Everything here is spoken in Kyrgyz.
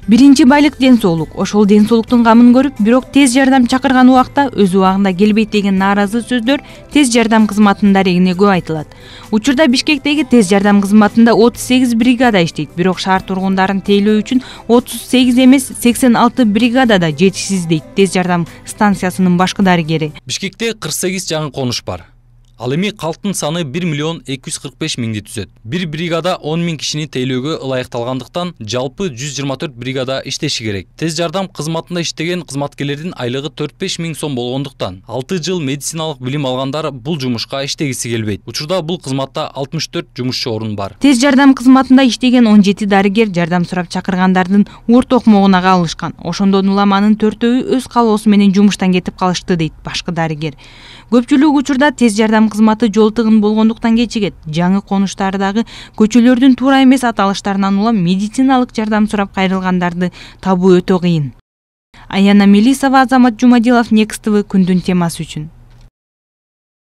Биринчи байлык ден соолук. Ошол ден соолуктун камын көрүп, бирок тез жардам чакырган убакта өз убагында келбейт деген нааразы сөздөр тез жардам кызматынын дарегине көп айтылат. Учурда Бишкектеги тез жардам кызматында 38 бригада иштейт, бирок шаар тургундарын тейлөө үчүн 38 эмес 86 бригадада жетишсиз дейт тез жардам станциясынын башкы дарыгери. Бишкекте 48 жаңы конуш бар. Ал эми калктын саны 1 миллион 245 миңди түзөт. Бир бригада 10 миң кишини тейлөөгө ылайыкталгандыктан жалпы 124 бригада иштеши керек. Тез жардам кызматында иштеген кызматкерлердин айлыгы 4-5 миң сом болгондуктан 6 жыл медициналык билим алгандар бул жумушка иштегиси келбейт. Учурда бул кызматта 64 жумушчу орун бар. Тез жардам кызматында иштеген 17 дарыгер жардам сурап чакыргандардын ур токмогуна кабылышкан. Ошондон улам анын 4-өө өз калоосу менен жумуштан кетип калышты дейт башкы дарыгер. Көпчүлүк учурда тез жардам кызматы жол тыгын болгондуктан кечигет. Жаңы конуштардагы көчөлөрдүн туура эмес аталыштарынан улам медициналык жардам сурап кайрылгандарды табуу өтө кыйын. Аяна Мелисова, Азамат Жумадилов, Next TV күндүн темасы үчүн.